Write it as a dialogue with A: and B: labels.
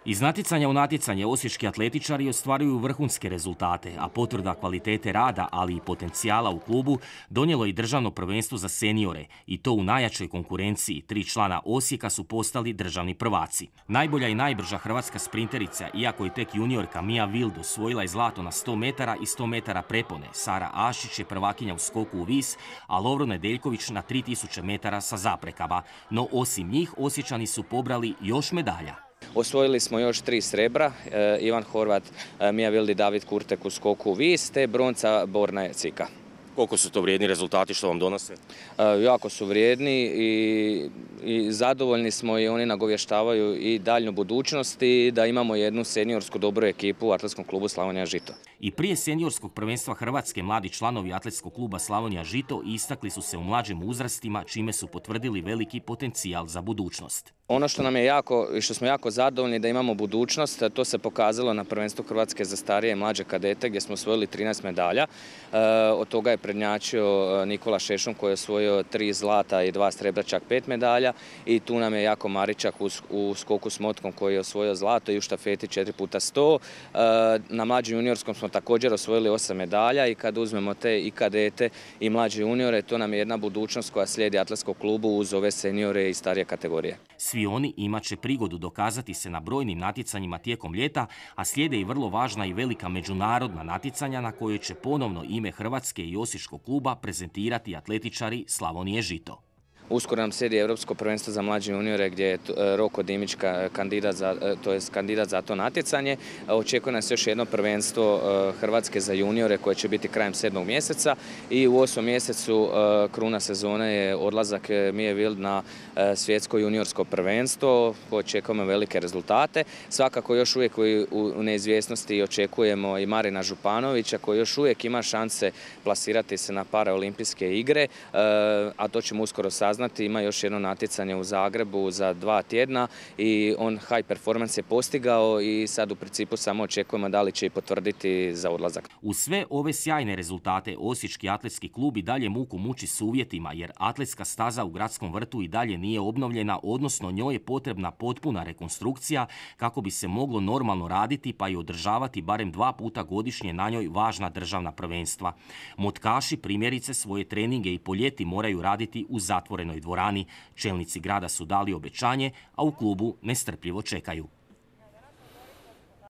A: Iz natjecanja u natjecanje osječki atletičari ostvaruju vrhunske rezultate, a potvrda kvalitete rada, ali i potencijala u klubu, donijelo i državno prvenstvo za seniore, i to u najjačoj konkurenciji. 3 člana Osijeka su postali državni prvaci. Najbolja i najbrža hrvatska sprinterica, iako je tek juniorka Mia Wild osvojila je zlato na 100 metara i 100 metara prepone. Sara Ašić je prvakinja u skoku u vis, a Lovro Nedeljković na 3000 metara sa zaprekama. No osim njih, Osječani su pobrali još medalja.
B: Osvojili smo još 3 srebra, Ivan Horvat, Mia Wild i David Kurtek u skoku u vis, te bronca Borna Cika.
A: Koliko su to vrijedni rezultati, što vam donose?
B: Jako su vrijedni i zadovoljni smo i oni nagovještavaju i daljnju budućnost i da imamo jednu seniorsku dobru ekipu u Atletskom klubu Slavonija Žito.
A: I prije seniorskog prvenstva Hrvatske mladi članovi Atletskog kluba Slavonija Žito istakli su se u mlađim uzrastima, čime su potvrdili veliki potencijal za budućnost.
B: Ono što nam je jako i što smo jako zadovoljni da imamo budućnost, to se pokazalo na prvenstvu Hrvatske za starije i mlađe kadete gdje smo osvojili 13 medalja. Od toga je prednjačio Nikola Šešum koji je osvojio 3 zlata i 2 srebra, čak 5 medalja. I tu nam je Jako Maričak u skoku s motkom koji je osvojio zlato i u štafeti 4x100. Na mlađem juniorskom smo također osvojili 8 medalja i kad uzmemo te i kadete i mlađe juniore, to nam je jedna budućnost koja slijedi Atletskom klubu uz ove seniore i starije kategorije.
A: Svi oni imat će prigodu dokazati se na brojnim natjecanjima tijekom ljeta, a slijede i vrlo važna i velika međunarodna natjecanja na kojoj će ponovno ime Hrvatske i Osječkog kluba prezentirati atletičari Slavonije Žito.
B: Uskoro nam slijedi Europsko prvenstvo za mlađe juniore gdje je Roko Dimić kandidat za to natjecanje. Očekuje nas još jedno prvenstvo Hrvatske za juniore koje će biti krajem 7. mjeseca i u 8. mjesecu kruna sezone je odlazak Mie Wild na svjetsko juniorsko prvenstvo. Očekujemo velike rezultate. Svakako još uvijek u neizvjesnosti očekujemo i Marina Županovića koji još uvijek ima šanse plasirati se na paraolimpijske igre, a to ćemo uskoro saznati. Ima još jedno natjecanje u Zagrebu za 2 tjedna i on high performance je postigao i sad u principu samo očekujemo da li će i potvrditi za odlazak.
A: Uz sve ove sjajne rezultate Osječki atletski klub i dalje muku muči s uvjetima jer atletska staza u Gradskom vrtu i dalje nije obnovljena, odnosno njoj je potrebna potpuna rekonstrukcija kako bi se moglo normalno raditi pa i održavati barem 2 puta godišnje na njoj važna državna prvenstva. Motkaši primjerice svoje treninge i po ljeti moraju raditi u zatvorenoj dvorani. Čelnici grada su dali obećanje, a u klubu nestrpljivo čekaju.